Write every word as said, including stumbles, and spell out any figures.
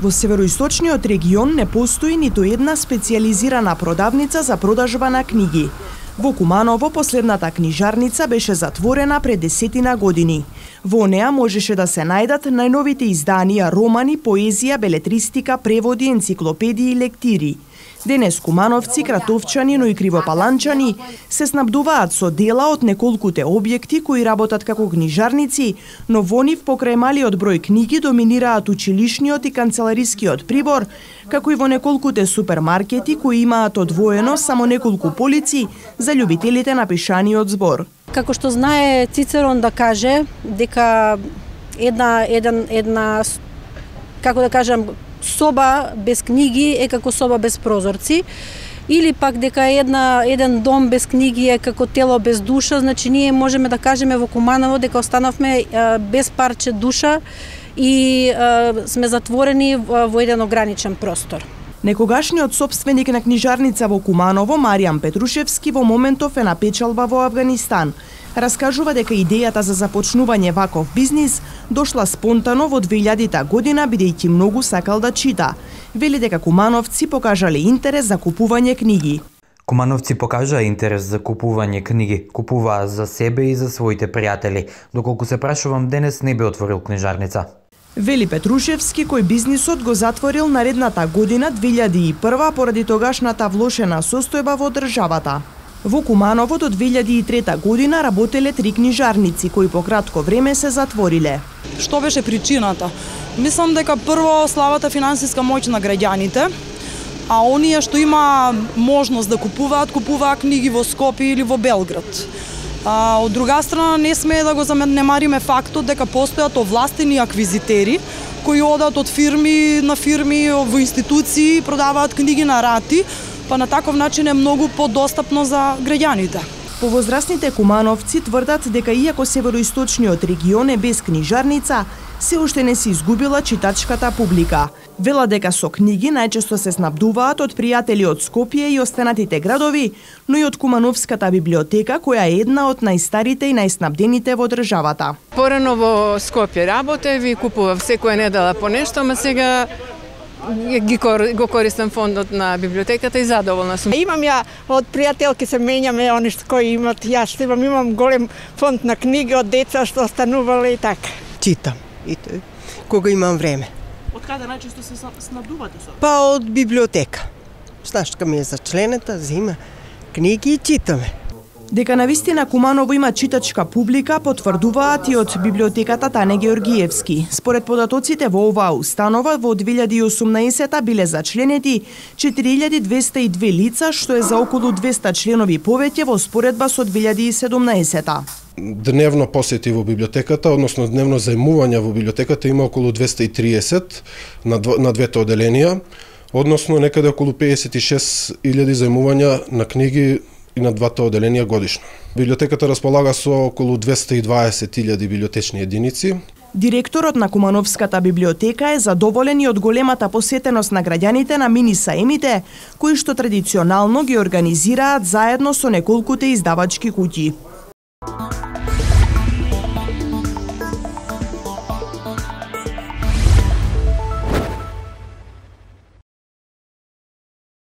Во североисточниот регион не постои ниту една специјализирана продавница за продажба на книги. Во Куманово последната книжарница беше затворена пред десетина години. Во неа можеше да се најдат најновите изданија, романи, поезија, белетристика, преводи, енциклопедии и лектири. Денес кумановци, кратовчани, но и кривопаланчани се снабдуваат со дела од неколкуте објекти кои работат како книжарници, но во нив покрај малиот број книги доминираат училишниот и канцеларискиот прибор, како и во неколкуте супермаркети кои имаат одвоено само неколку полици за љубителите на пишаниот збор. Како што знае Цицерон да каже дека една еден една како да кажам соба без книги е како соба без прозорци, или пак дека една еден дом без книги е како тело без душа, значи ние можеме да кажеме во Куманово дека останавме а, без парче душа и а, сме затворени во, во еден ограничен простор. Некогашниот собственик на книжарница во Куманово, Маријан Петрушевски, во моментов е на печалба во Авганистан. Раскажува дека идејата за започнување ваков бизнис дошла спонтано во две илјадита година, бидејќи многу сакал да чита. Вели дека кумановци покажале интерес за купување книги. Кумановци покажаа интерес за купување книги, купуваа за себе и за своите пријатели. Доколку се прашувам, денес не би отворил книжарница. Вели Петрушевски, кој бизнисот го затворил наредната година две илјади и прва поради тогашната влошена состојба во државата. Во Куманово до две илјади и трета година работеле три книжарници кои по кратко време се затвориле. Што беше причината? Мислам дека прво слабата финансиска моќ на граѓаните, а оние што има можност да купуваат, купуваат книги во Скопје или во Белград. А, од друга страна, не смее да го занемариме фактот дека постојат овластени аквизитери кои одат од фирми на фирми во институции, продаваат книги на рати, па на таков начин е многу подостапно за граѓаните. Повозрастните кумановци тврдат дека иако североисточниот регион е без книжарница, се уште не се изгубила читачката публика. Вела дека со книги најчесто се снабдуваат од пријатели од Скопје и останатите градови, но и од Кумановската библиотека, која е една од најстарите и најснабдените во државата. Порано во Скопје работев и купував секоја недела по нешто, ама сега ги го користам фондот на библиотеката и задоволна сум. Имам ја од пријателки се менјаме они што кои имат, јас што имам, имам голем фонд на книги од деца што останувале и така. Читам и тој кога имам време. Од каде најчесто се снабдувате со? Па од библиотека. Снашка ми е за члената, зима книги и читаме. Дека навистина Куманово има читачка публика потврдуваат и од библиотеката Тане Георгиевски. Според податоците во оваа установа во две илјади и осумнаесета биле зачленети четири илјади двесте и две лица, што е за околу двесте членови повеќе во споредба со две илјади и седумнаесета. Дневно посети во библиотеката, односно дневно зајмување во библиотеката има околу двесте и триесет на, дв... на двете оделенија, односно некаде околу педесет и шест илјади зајмувања на книги и на двата оделенија годишно. Библиотеката располага со околу двесте и дваесет илјади библиотечни единици. Директорот на Кумановската библиотека е задоволен и од големата посетеност на граѓаните на мини саемите, кои што традиционално ги организираат заедно со неколкуте издавачки куќи.